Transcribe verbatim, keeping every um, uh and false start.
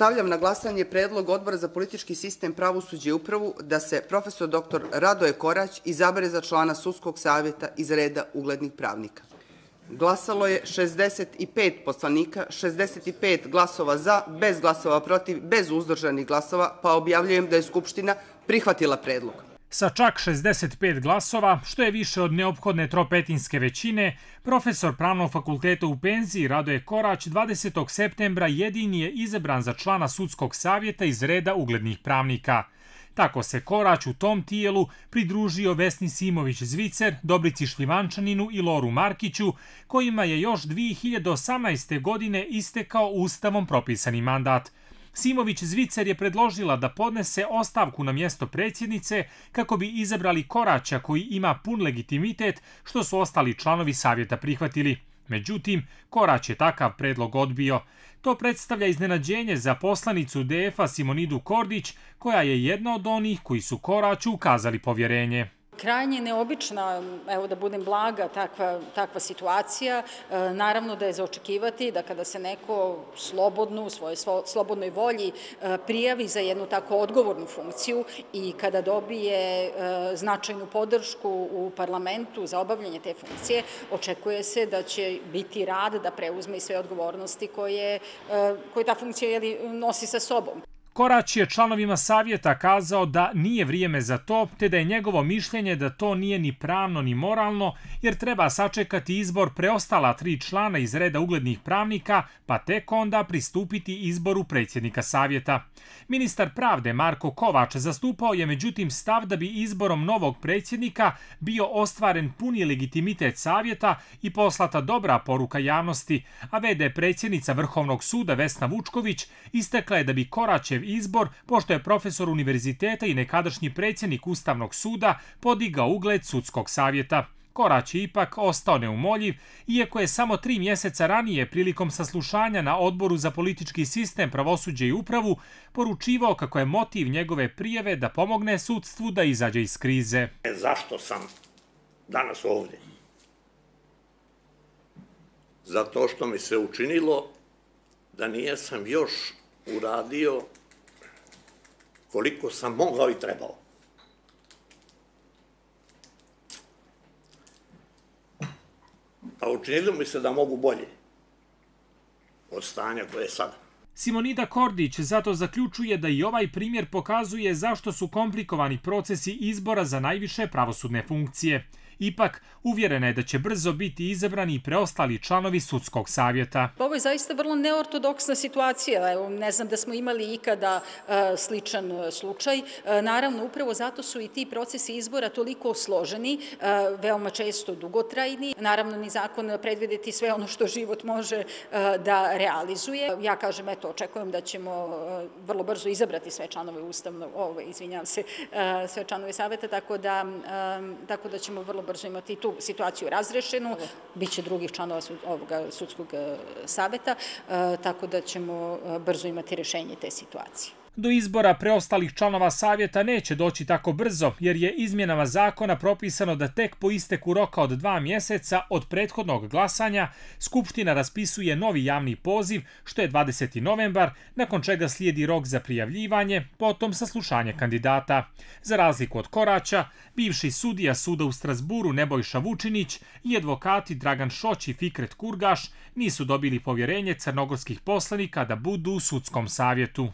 Stavljam na glasanje predlog Odbora za politički sistem, pravosuđe i upravu da se profesor doktor Radoje Korać izabere za člana sudskog savjeta iz reda uglednih pravnika. Glasalo je šezdeset pet poslanika, šezdeset pet glasova za, bez glasova protiv, bez uzdržanih glasova, pa objavljujem da je Skupština prihvatila predlog. Sa čak šezdeset pet glasova, što je više od neophodne tropetinske većine, profesor Pravnog fakulteta u penziji Radoje Korać dvadesetog septembra jedini je izabran za člana sudskog savjeta iz reda uglednih pravnika. Tako se Korać u tom tijelu pridružio Vesni Simović-Zvicer, Dobrici Šljivančaninu i Loru Markiću, kojima je još dvije hiljade osamnaeste. godine istekao ustavom propisani mandat. Simović-Zvicer je predložila da podnese ostavku na mjesto predsjednice kako bi izabrali Koraća koji ima pun legitimitet, što su ostali članovi savjeta prihvatili. Međutim, Korać je takav predlog odbio. To predstavlja iznenađenje za poslanicu D F-a Simonidu Kordić, koja je jedna od onih koji su Koraću ukazali povjerenje. Krajnje neobična, evo da budem blaga, takva, takva situacija. E, naravno da je za očekivati da kada se neko slobodno, u svojoj slobodnoj volji e, prijavi za jednu tako odgovornu funkciju i kada dobije e, značajnu podršku u parlamentu za obavljanje te funkcije, očekuje se da će biti rad da preuzme i sve odgovornosti koje, e, koje ta funkcija jeli, nosi sa sobom. Korać je članovima savjeta kazao da nije vrijeme za to, te da je njegovo mišljenje da to nije ni pravno ni moralno, jer treba sačekati izbor preostala tri člana iz reda uglednih pravnika, pa tek onda pristupiti izboru predsjednika savjeta. Ministar pravde Marko Kovač zastupao je međutim stav da bi izborom novog predsjednika bio ostvaren puni legitimitet savjeta i poslata dobra poruka javnosti, a v d predsjednica Vrhovnog suda Vesna Vučković istakla je da bi Koraćev izbor, pošto je profesor univerziteta i nekadašnji predsjednik Ustavnog suda, podigao ugled sudskog savjeta. Korać je ipak ostao neumoljiv, iako je samo tri mjeseca ranije prilikom saslušanja na Odboru za politički sistem, pravosuđe i upravu poručivao kako je motiv njegove prijave da pomogne sudstvu da izađe iz krize. Zašto sam danas ovdje? Zato što mi se učinilo da nijesam još uradio koliko sam mogao i trebao. A učinilo mi se da mogu bolje od stanja koje je sada. Simonida Kordić zato zaključuje da i ovaj primjer pokazuje zašto su komplikovani procesi izbora za najviše pravosudne funkcije. Ipak, uvjerena je da će brzo biti izabrani i preostali članovi sudskog savjeta. Ovo je zaista vrlo neortodoksna situacija. Evo, ne znam da smo imali ikada uh, sličan uh, slučaj. Uh, naravno, upravo zato su i ti procesi izbora toliko složeni, uh, veoma često dugotrajni. Naravno, ni zakon predvidjeti sve ono što život može uh, da realizuje. Ja kažem, eto, očekujem da ćemo uh, vrlo brzo izabrati sve članove ustavnog, ovo, izvinjam se, uh, sve članove savjeta, tako da, um, tako da ćemo vrlo brzo imati tu situaciju razrešenu, biće drugih članova ovoga sudskog savjeta, tako da ćemo brzo imati rješenje te situacije. Do izbora preostalih članova savjeta neće doći tako brzo, jer je izmjenama zakona propisano da tek po isteku roka od dva mjeseca od prethodnog glasanja Skupština raspisuje novi javni poziv, što je dvadeseti novembar, nakon čega slijedi rok za prijavljivanje, potom saslušanje kandidata. Za razliku od Koraća, bivši sudija suda u Strasburu Nebojša Vučinić i advokati Dragan Šoć i Fikret Kurgaš nisu dobili povjerenje crnogorskih poslanika da budu u sudskom savjetu.